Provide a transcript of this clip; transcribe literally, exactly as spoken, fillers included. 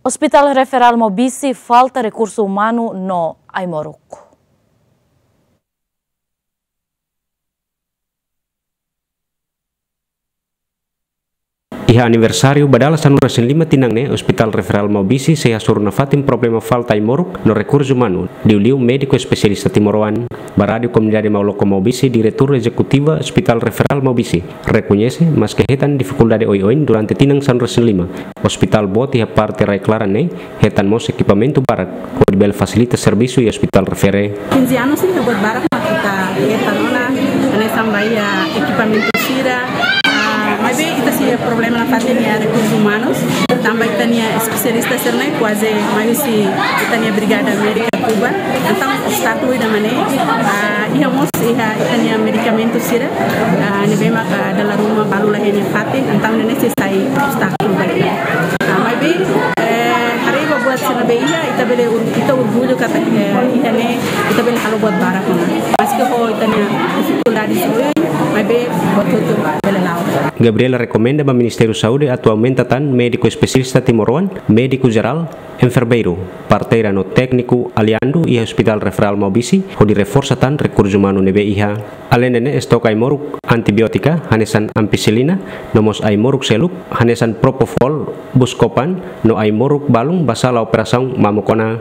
Hospital Referral Maubisse falta rekursu umanu no ai-moruk. Iha aniversáriu ba dala sanulu-resin-lima tinan ne'e, Hospital Referral Maubisse sei hasoru nafatin problema falta ai-moruk no rekursu umanu, liuliu médiku espesialista timoroan. Ba Rádiu Komunidade Mauloko Maubisse, Diretór Ezekutiva Hospital Referral Maubisse rekoñese, maske hetan difikuldade oioin durante tinan sanulu-resin-lima, ospitál boot iha parte rai-klaran ne'e hetan mós ekipamentu barak hodi bele fasilita servisu iha ospitál refere. Quinze anos ne'e buat barak mak ita hetan ona, hanesan ba iha ekipamentu sira, ah, maibé ita sei iha problema nafatin iha rekursu umanus, tanba ita-nia espesialista sira ne'e kuaze mai husi ita-nia Brigada Médika Kuba. Entaun obstákulu ida-ne'e, ah, iha mós iha ita-nia medikamentu sira, ah, ne'ebé maka dala ruma balu la iha nia fatin, entaun ne'e sei sai obstákulu ba ita. Ah, maibé, eh, haree ba buat sira ne'ebé iha, ita bele or-, ita orgullu katak, eh, iha ne'e ita bele halo buat barak ona. Maske ho ita-nia difikuldade sira, maibé buat hotu bele la'o. Gabriela rekomenda ba Ministériu Saúde atu aumenta tan médiku espesialista timoroan, médiku jerál, enfermeiru, parteira no tékniku aliandu iha Hospital Referral Maubisse hodi reforsa tan rekursu umanu ne'ebé iha. Aleinde ne'e, estok ai-moruk antibiótika hanesan ampicilina, no mós ai-moruk seluk hanesan propofol, buscopan, no ai-moruk balun ba sala operasaun mamuk ona.